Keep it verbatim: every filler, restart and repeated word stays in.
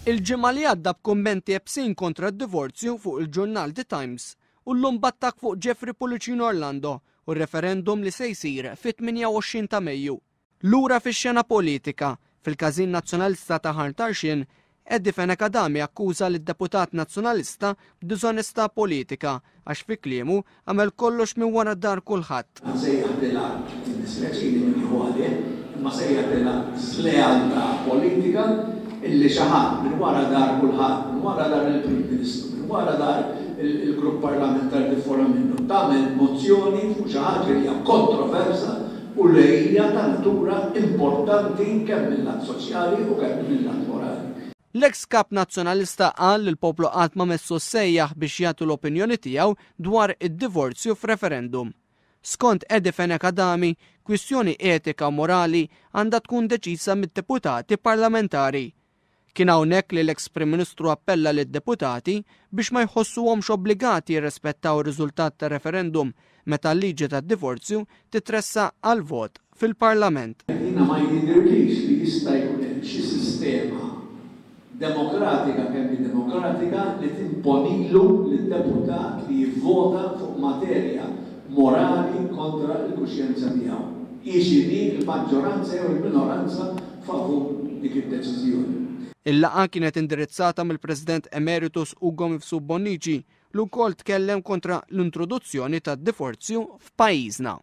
Il-ġimgħa li għadda b'kummenti iebsin kontra d-divorzju fuq il-ġurnal The Times u llum b'attakk fuq Jeffrey Pullicino Orlando u r-referendum li se jsir fit-tmienja u għoxrin ta' Mejju. Lura fix-xena politika, fil-Każin Nazzjonalista ta' Ħal Tarxien, Eddie Fenech Adami akkuża lid-deputat Nazzjonalista b'diżonestà politika għax fi kliemu għamel kollox minn wara dar kulħadd. Sejjaħtilha, jiddispjaċini min jieħu għalih, imma sejjaħtilha żlealtà politika illi xi ħadd minn wara dar kulħadd, minn wara dar il-Prim Ministru, minn wara dar il-grupp parlamentari tifforma minnu, tagħmel mozzjoni fuq xi ħaġa li hija kontroversa u li hija ta' natura importanti kemm mill-lat soċjali u kemm mill-lat morali. L-eks kap Nazzjonalista qal li l-poplu qatt ma messu sejjaħ biex jagħtu l-opinjoni tiegħu dwar id-divorzju f'referendum. Skont Eddie Fenech Adami, kwistjoni etika u morali għandha tkun deċisa mid-deputati parlamentari. Kien hawnhekk li l-eks Prim Ministru appella lid-deputati biex ma jħossuhomx obbligati jirrispettaw ir-riżultat tar-referendum meta l-liġi tad-divorzju titressaq għal vot fil-Parlament. Jiena ma jidhirlix li jista' jkun hemm xi sistema demokratika kemm hi demokratika li timponilu lid-deputat li jivvota fuq materja morali kontra l-kuxjenza tiegħu. Hi x'inhi l-maġġoranza jew il-minoranza favur dik id-deċiżjoni. Il-laqgħa kienet indirizzata mill-President Emeritus Ugo Mifsud Bonnici li wkoll tkellem kontra l-introduzzjoni tad-divorzju f'pajjiżna.